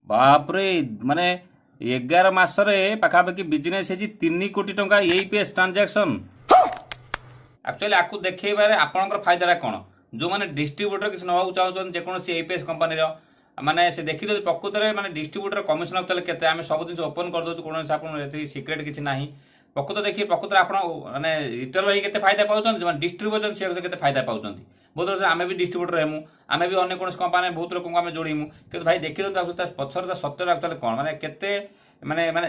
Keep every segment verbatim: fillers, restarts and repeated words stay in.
ବାପରେ ମାନେ ଏଗାର ମାସରେ ପାଖାପାଖି ବିଜନେସ୍ ହେଇଛି ତିନି କୋଟି ଟଙ୍କା ଏଇପିଏସ୍ ଟ୍ରାଞ୍ଜାକ୍ସନ୍ ଆକ୍ଚୁଆଲି ଆକୁ ଦେଖେଇବାରେ ଆପଣଙ୍କର ଫାଇଦାଟା କ'ଣ ଯେଉଁମାନେ ଡିଷ୍ଟ୍ରିବ୍ୟୁଟର କିଛି ନେବାକୁ ଚାହୁଁଛନ୍ତି ଯେକୌଣସି ଏଇପିଏସ୍ କମ୍ପାନୀର ମାନେ ସେ ଦେଖିଦେଉଛି ପ୍ରକୃତରେ ମାନେ ଡିଷ୍ଟ୍ରିବ୍ୟୁଟର କମିଶନ ଆକ୍ଚୁଆଲି କେତେ ଆମେ ସବୁ ଜିନିଷ ଓପନ୍ କରିଦେଉଛୁ କୌଣସି ଆପଣ ଏଠି ସିକ୍ରେଟ୍ କିଛି ନାହିଁ ପ୍ରକୃତ ଦେଖିବେ ପ୍ରକୃତରେ ଆପଣ ମାନେ ରିଟେଲର ହେଇକି କେତେ ଫାଇଦା ପାଉଛନ୍ତି ଯେଉଁମାନେ ଡିଷ୍ଟ୍ରିବ୍ୟୁଟର ସେ କେତେ ଫାଇଦା ପାଉଛନ୍ତି ବହୁତ ବର୍ଷ ଆମେ ବି ଡିଷ୍ଟ୍ରିବ୍ୟୁଟର ହେମୁ ଆମେ ବି ଅନ୍ୟ କୌଣସି କମ୍ପାନୀ ବହୁତ ଲୋକଙ୍କୁ ଆମେ ଯୋଡ଼ିମୁ କିନ୍ତୁ ଭାଇ ଦେଖିଦିଅନ୍ତୁ ଆକ୍ଚୁଆଲି ତା ପଛରେ ତା ସତ୍ୟଟା ଆକ୍ଚୁଆଲି କ'ଣ ମାନେ କେତେ ମାନେ ମାନେ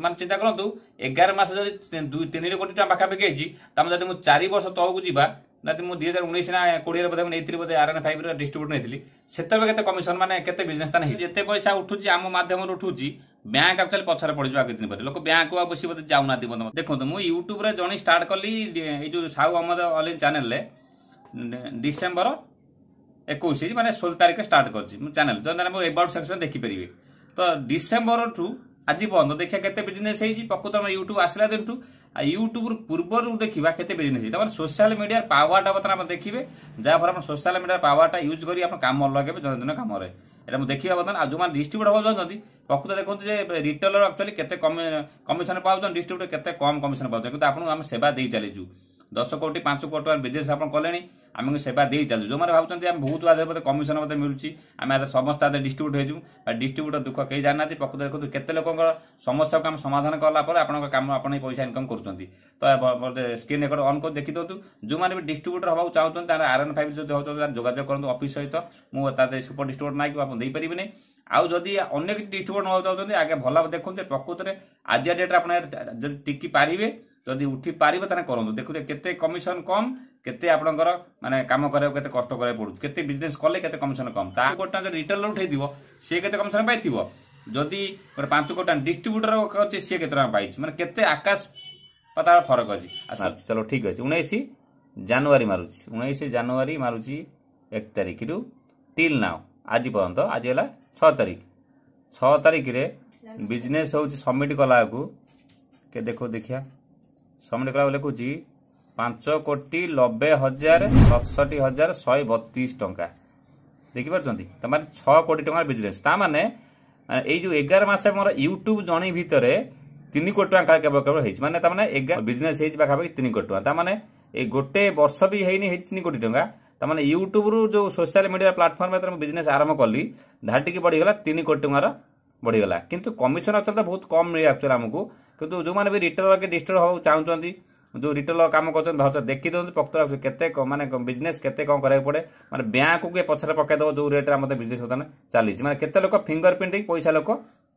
ମାନେ ଚିନ୍ତା କରନ୍ତୁ ଏଗାର ମାସ ଯଦି ଦୁଇ ତିନି କୋଟି ଟଙ୍କା ପାଖାପାଖି ହେଇଛି ତାମାନେ ଯଦି ମୁଁ ଚାରି ବର୍ଷ ତଳକୁ ଯିବା ଯଦି ମୁଁ ଦୁଇ ହଜାର ଉଣେଇଶ ନା କୋଡ଼ିଏରେ ବୋଧେ ମୁଁ ନେଇଥିଲି ବୋଧେ ଆର୍ ଏନ୍ ଫାଇଭ୍ର ଡିଷ୍ଟ୍ରିବ୍ୟୁଟର ନେଇଥିଲି ସେତେବେଳେ କେତେ କମିଶନ ମାନେ କେତେ ବିଜନେସ୍ ତାହେଲେ ହେଇଛି ଯେତେ ପଇସା ଉଠୁଛି ଆମ ମାଧ୍ୟମରେ ଉଠୁଛି ବ୍ୟାଙ୍କ ଆକ୍ଚୁଆଲି ପଛରେ ପଡ଼ିଯିବ ଆଉ କିଛି ଦିନ ପରେ ଲୋକ ବ୍ୟାଙ୍କକୁ ଆଉ ବେଶୀ ବୋଧେ ଯାଉନାହାନ୍ତି ବନ୍ଧୁ ଦେଖନ୍ତୁ ମୁଁ ୟୁଟ୍ୟୁବରେ ଜଣେ ଷ୍ଟାର୍ଟ କଲି ଏଇ ଯୋଉ ସାହୁ ଅହମ୍ମଦ ଅଲି ଚ୍ୟାନେଲରେ ଡିସେମ୍ବର ଏକୋଇଶ ମାନେ ଷୋହଳ ତାରିଖରେ ଷ୍ଟାର୍ଟ କରିଛି ମୁଁ ଚ୍ୟାନେଲ ଯଦି ମୁଁ ଏବାଉଟ୍ ସେକ୍ସନ ଦେଖିପାରିବେ ତ ଡିସେମ୍ବରଠୁ ଆଜି ପର୍ଯ୍ୟନ୍ତ ଦେଖିବା କେତେ ବିଜନେସ୍ ହେଇଛି ପ୍ରକୃତ ଆମର ୟୁଟ୍ୟୁବ ଆସିଲା ଦିନଠୁ ଆଉ ୟୁଟ୍ୟୁବରୁ ପୂର୍ବରୁ ଦେଖିବା କେତେ ବିଜନେସ୍ ହେଇଛି ତାମାନେ ସୋସିଆଲ ମିଡ଼ିଆର ପାୱାରଟା ବର୍ତ୍ତମାନ ଆପଣ ଦେଖିବେ ଯାହାଫଳରେ ଆପଣ ସୋସିଆଲ ମିଡ଼ିଆର ପାୱାରଟା ୟୁଜ୍ କରି ଆପଣ କାମ ଲଗେଇବେ ଦୈନନ୍ଦିନ କାମରେ ଏଇଟା ମୁଁ ଦେଖିବା ବର୍ତ୍ତମାନ ଆଉ ଯେଉଁମାନେ ଡିଷ୍ଟ୍ରିବ୍ୟୁଟର ହେବାକୁ ଚାହୁଁଛନ୍ତି ପ୍ରକୃତ ଦେଖନ୍ତୁ ଯେ ରିଟେଲର ଆକ୍ଚୁଆଲି କେତେ କମିଶନ ପାଉଛନ୍ତି ଡିଷ୍ଟ୍ରିବ୍ୟୁଟର କେତେ କମ୍ କମିଶନ ପାଉଛନ୍ତି କିନ୍ତୁ ଆପଣଙ୍କୁ ଆମେ ସେବା ଦେଇ ଚାଲିଛୁ ଦଶ କୋଟି ପାଞ୍ଚ କୋଟି ଟଙ୍କା ବିଜନେସ୍ ଆପଣ କଲେଣି ଆମକୁ ସେବା ଦେଇ ଚାଲୁଛୁ ଯେଉଁମାନେ ଭାବୁଛନ୍ତି ଆମେ ବହୁତ ଆଧାର ବୋଧେ କମିଶନ ବୋଧେ ମିଳୁଛି ଆମେ ଆଧାର ସମସ୍ତେ ଆଧାର ଡିଷ୍ଟ୍ରିବ୍ୟୁଟ୍ ହେଇଯିବୁ ବା ଡିଷ୍ଟ୍ରିବ୍ୟୁଟର ଦୁଃଖ କେହି ଜାଣିନାହାନ୍ତି ପ୍ରକୃତ ଦେଖନ୍ତୁ କେତେ ଲୋକଙ୍କର ସମସ୍ୟାକୁ ଆମେ ସମାଧାନ କଲା ପରେ ଆପଣଙ୍କ କାମ ଆପଣ ହିଁ ପଇସା ଇନକମ୍ କରୁଛନ୍ତି ତ ସ୍କ୍ରିନ୍ ରେକର୍ଡ ଅନ୍ କରି ଦେଖିଦିଅନ୍ତୁ ଯେଉଁମାନେ ବି ଡିଷ୍ଟ୍ରିବ୍ୟୁଟର ହେବାକୁ ଚାହୁଁଛନ୍ତି ତାର ଆର୍ ଏନ୍ ଫାଇଭ୍ ଯଦି ହେଉଛନ୍ତି ତାର ଯୋଗାଯୋଗ କରନ୍ତୁ ଅଫିସ୍ ସହିତ ମୁଁ ତା ସୁପର ଡିଷ୍ଟ୍ରିବ୍ୟୁଟର ନାଇଁ ଆପଣ ଦେଇପାରିବିନି ଆଉ ଯଦି ଅନ୍ୟ କିଛି ଡିଷ୍ଟ୍ରିବ୍ୟୁଟର ନେବାକୁ ଚାହୁଁଛନ୍ତି ଆଗେ ଭଲ ଭାବେ ଦେଖନ୍ତୁ ପ୍ରକୃତରେ ଆଜିକା ଡେଟ୍ରେ ଆପଣ ଯଦି ଟିକି ପାରିବେ ଯଦି ଉଠି ପାରିବେ ତାହେଲେ କରନ୍ତୁ ଦେଖନ୍ତୁ କେତେ କମିଶନ କମ୍ କେତେ ଆପଣଙ୍କର ମାନେ କାମ କରିବାକୁ କେତେ କଷ୍ଟ କରିବାକୁ ପଡୁଛି କେତେ ବିଜନେସ୍ କଲେ କେତେ କମିଶନ କମ୍ ତା କୋଟି ଟଙ୍କା ଯଦି ରିଟେଲର ଉଠେଇଥିବ ସିଏ କେତେ କମିଶନ ପାଇଥିବ ଯଦି ଗୋଟେ ପାଞ୍ଚ କୋଟି ଟଙ୍କା ଡିଷ୍ଟ୍ରିବ୍ୟୁଟର ଅଛି ସିଏ କେତେ ଟଙ୍କା ପାଇଛି ମାନେ କେତେ ଆକାଶ ପାତାଳ ଫରକ ଅଛି ଆଚ୍ଛା ଚଲୋ ଠିକ ଅଛି ଉଣେଇଶ ଜାନୁଆରୀ ମାରୁଛି ଉଣେଇଶ ଜାନୁଆରୀ ମାରୁଛି ଏକ ତାରିଖରୁ ଟିଲ୍ now ଆଜି ପର୍ଯ୍ୟନ୍ତ ଆଜି ହେଲା ଛଅ ତାରିଖ ଛଅ ତାରିଖରେ ବିଜନେସ୍ ହେଉଛି ସବମିଟ୍ କଲା ବେଳକୁ କେ ଦେଖ ଦେଖିବା ସବମିଟ୍ କଲା ବେଳକୁ ଲେଖୁଛି ପାଞ୍ଚ କୋଟି ନବେ ହଜାର ସତଷଠି ହଜାର ଶହେ ବତିଶ ଟଙ୍କା ଦେଖିପାରୁଛନ୍ତି ତାମାନେ ଛଅ କୋଟି ଟଙ୍କାର ବିଜନେସ୍ ତା ମାନେ ଏଇ ଯୋଉ ଏଗାର ମାସ ମୋର ୟୁଟ୍ୟୁବ ଜଣେ ଭିତରେ ତିନି କୋଟି ଟଙ୍କା କେବଳ କେବଳ ହେଇଛି ମାନେ ତାମାନେ ଏଗାର ବିଜନେସ୍ ହେଇଛି ପାଖାପାଖି ତିନି କୋଟି ଟଙ୍କା ତାମାନେ ଏଇ ଗୋଟେ ବର୍ଷ ବି ହେଇନି ହେଇଛି ତିନି କୋଟି ଟଙ୍କା ତାମାନେ ୟୁଟ୍ୟୁବରୁ ଯୋଉ ସୋସିଆଲ ମିଡ଼ିଆ ପ୍ଲାଟଫର୍ମ ଯେତେବେଳେ ମୁଁ ବିଜନେସ୍ ଆରମ୍ଭ କଲି ଧାଟିକି ବଢ଼ିଗଲା ତିନି କୋଟି ଟଙ୍କାର ବଢ଼ିଗଲା କିନ୍ତୁ କମିଶନ ଆକ୍ଚୁଆଲି ତ ବହୁତ କମ୍ ମିଳେ ଆକ୍ଚୁଆଲି ଆମକୁ କିନ୍ତୁ ଯେଉଁମାନେ ବି ରିଟେଲର କି ଡିଷ୍ଟ୍ରିବ୍ୟୁଟର ହେବାକୁ ଚାହୁଁଛନ୍ତି ଯେଉଁ ରିଟେଲର କାମ କରୁଛନ୍ତି ଭଲସେ ଦେଖିଦିଅନ୍ତୁ ପ୍ରକୃତ କେତେ ମାନେ ବିଜନେସ୍ କେତେ କ'ଣ କରିବାକୁ ପଡ଼େ ମାନେ ବ୍ୟାଙ୍କକୁ ଏ ପଛରେ ପକାଇଦେବ ଯେଉଁ ରେଟ୍ରେ ଆମର ବିଜନେସ୍ ବର୍ତ୍ତମାନ ଚାଲିଛି ମାନେ କେତେ ଲୋକ ଫିଙ୍ଗର ପ୍ରିଣ୍ଟ ଦେଇକି ପଇସା ଲୋକ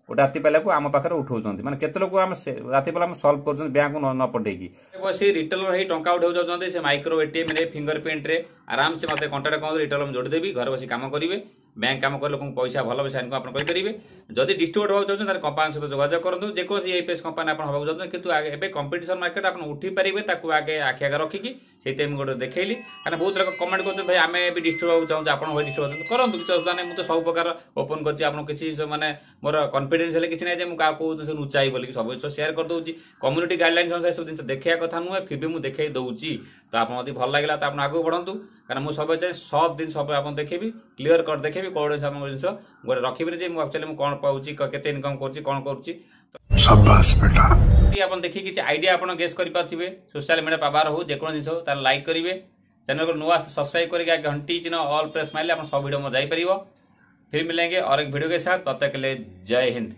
ଗୋଟେ ରାତି ପାଇଲାକୁ ଆମ ପାଖରେ ଉଠାଉଛନ୍ତି ମାନେ କେତେ ଲୋକ ଆମେ ରାତି ପାଇଲା ଆମେ ସଲ୍ଭ କରୁଛନ୍ତି ବ୍ୟାଙ୍କକୁ ନ ପଠେଇକି ବସି ରିଟେଲର ହେଇ ଟଙ୍କା ଉଠାଉ ଯାଉଛନ୍ତି ସେ ମାଇକ୍ରୋ ଏଟିଏମ୍ରେ ଫିଙ୍ଗର ପ୍ରିଣ୍ଟରେ ଆରାମସେ ମୋତେ କଣ୍ଟାକ୍ଟ କରନ୍ତୁ ରିଟେଲର ମୁଁ ଯୋଡ଼ିଦେବି ଘରେ ବସି କାମ କରିବେ ବ୍ୟାଙ୍କ କାମ କରି ଲୋକଙ୍କୁ ପଇସା ଭଲ ପଇସା ଇନକମ୍ ଆପଣ କରିପାରିବେ ଯଦି ଡିଷ୍ଟ୍ରିବ୍ୟୁଟର ହେବାକୁ ଚାହୁଁଛନ୍ତି ତାହେଲେ କମ୍ପାନୀ ସହିତ ଯୋଗାଯୋଗ କରନ୍ତୁ ଯେକୌଣସି ଏଇପିଏସ୍ କମ୍ପାନୀ ଆପଣ ହେବାକୁ ଚାହୁଁଛନ୍ତି କିନ୍ତୁ ଏବେ କମ୍ପିଟିସନ ମାର୍କେଟ ଆପଣ ଉଠି ପାରିବେ ତାକୁ ଆଗେ ଆଖି ଆଗରେ ରଖିକି ସେଇଥିପାଇଁ ମୁଁ ଗୋଟେ ଦେଖେଇଲି କାରଣ ବହୁତ ଲୋକ କମେଣ୍ଟ କରୁଛନ୍ତି ଭାଇ ଆମେ ବି ଡିଷ୍ଟ୍ରିବ୍ୟୁଟ ହେବାକୁ ଚାହୁଁଛୁ ଆପଣ ଭାଇ ଡିଷ୍ଟ୍ରିବ୍ୟୁଟ କରନ୍ତୁ କିଛି ଅସୁବିଧା ନାହିଁ ମୁଁ ତ ସବୁ ପ୍ରକାର ଓପନ୍ କରିଛି ଆପଣ କିଛି ଜିନିଷ ମାନେ ମୋର କନଫିଡେନ୍ସ ହେଲେ କିଛି ନାହିଁ ଯେ ମୁଁ କାହାକୁ କୋଉ ଜିନିଷ ଲୁଚାଇ ବୋଲିକି ସବୁ ଜିନିଷ ସେୟାର କରିଦେଉଛି କମ୍ୟୁନିଟି ଗାଇଡଲାଇନ୍ସ ଅନୁସାରେ ସବୁ ଜିନିଷ ଦେଖେଇବା କଥା ନୁହେଁ ଫିର୍ ବି ମୁଁ ଦେଖେଇ ଦେଉଛି ତ ଆପଣ ଯଦି ଭଲ ଲାଗିଲା ତ ଆପଣ ଆଗକୁ ବଢ଼ନ୍ତୁ କାରଣ ମୁଁ ସବୁବେଳେ ଚାହେଁ ସବୁ ଜିନିଷ ସବୁ ଆପଣ ଦେଖେଇବି କ୍ଲିୟର କରି ଦେଖେଇବି କୋଉ ଜିନିଷ ଆପଣଙ୍କ ଜିନିଷ ଗୋଟେ ରଖିବିନି ଯେ ମୁଁ ଆକ୍ଚୁଆଲି ମୁଁ କ'ଣ ପାଉଛି କେତେ ଇନକମ୍ କରୁଛି କ'ଣ କରୁଛି शाबाश बेटा ଆପଣ ଦେଖିକି କିଛି ଆଇଡିଆ ଆପଣ ଗେସ୍ କରିପାରୁଥିବେ ସୋସିଆଲ ମିଡ଼ିଆ ପାୱାର ହଉ ଯେକୌଣସି ଜିନିଷ ହଉ ତାହେଲେ ଲାଇକ୍ କରିବେ ଚ୍ୟାନେଲକୁ ନୂଆ ସବସ୍କ୍ରାଇବ କରିକି ଆଗେ ଘଣ୍ଟି ଚିହ୍ନ ଅଲ୍ ପ୍ରେସ୍ ମାରିଲେ ଆପଣ ସବୁ ଭିଡ଼ିଓ ମୋ ଯାଇପାରିବ फिर मिलेंगे और एक वीडियो के साथ तब तक के लिए जय हिंद।